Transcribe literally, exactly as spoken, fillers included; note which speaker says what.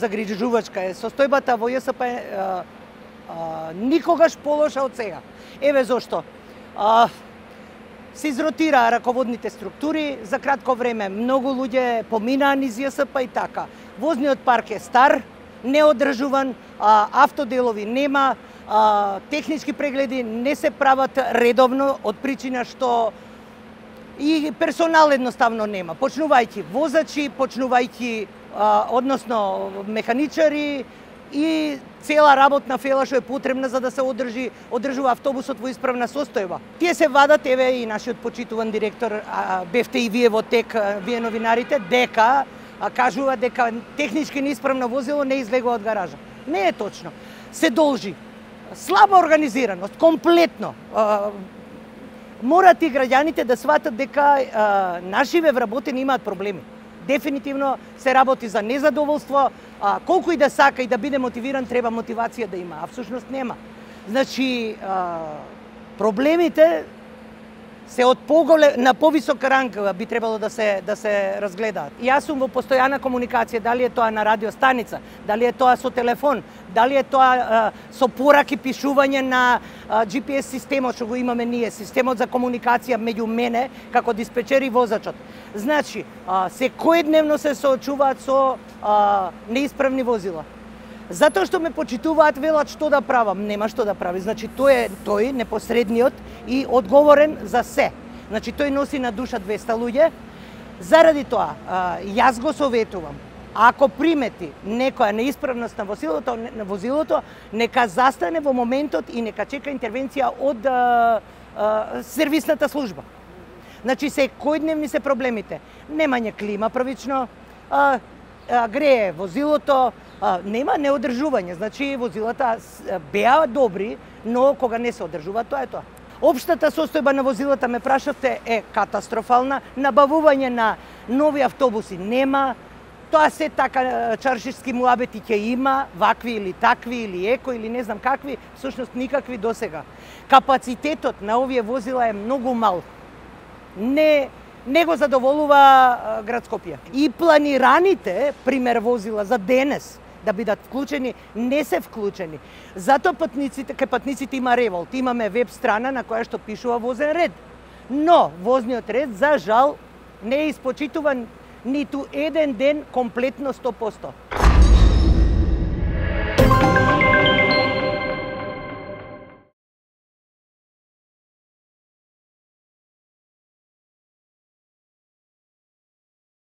Speaker 1: загрижувачка е состојбата во ЈСП е, а, а, никогаш полоша од сега. Еве зошто. А, се изротираа раководните структури за кратко време. Многу луѓе поминаа низ ЈСП и така. Возниот парк е стар, неодржуван, а, автоделови нема, а, технички прегледи не се прават редовно од причина што и персонал едноставно нема. Почнувајќи возачи, почнувајќи а, односно механичари и цела работна фела што е потребна за да се одржи одржува автобусот во исправна состојба. Тие се вадат, еве и нашиот почитуван директор, а, бевте и вие во ТЕК, вие новинарите, дека а, кажува дека технички неисправно возило не излегува од гаража. Не е точно. Се должи слаба организираност, комплетно. А, морат и граѓаните да сватат дека а, нашиве вработени имаат проблеми. Дефинитивно се работи за незадоволство, а, колку и да сака и да биде мотивиран, треба мотивација да има, а всушност нема. Значи, а, проблемите се од поголем на повисок ранг би требало да се да се разгледаат. Јас сум во постојана комуникација, дали е тоа на радиостаница, дали е тоа со телефон, дали е тоа а, со пораки пишување на а, Джи Пи Ес системот што го имаме ние, системот за комуникација меѓу мене како диспечер и возачот. Значи, а, секојдневно се соочуваат со а, неисправни возила. Затоа што ме почитуваат, велат што да правам, нема што да прави. Значи тој е тој непосредниот и одговорен за се. Значи тој носи на душа двеста луѓе. Заради тоа, а, јас го советувам, ако примети некоја неисправност на возилото, на возилото, нека застане во моментот и нека чека интервенција од а, а, сервисната служба. Значи секојдневни се проблемите. Немање клима првично, а, а, грее возилото, а, нема неодржување. Значи возилата беа добри, но кога не се одржува, тоа е тоа. Општата состојба на возилата, ме прашавте, е катастрофална. Набавување на нови автобуси нема. Тоа се така чаршишки муабети ќе има, вакви или такви, или еко, или не знам какви, всушност никакви досега. Капацитетот на овие возила е многу мал. Не, не го задоволува град Скопје. И планираните, пример, возила за денес, да бидат вклучени, не се вклучени. Затоа патниците, кај патниците има револт. Имаме веб страна на која што пишува возен ред. Но возниот ред, за жал, не е испочитуван ниту еден ден комплетно сто проценти.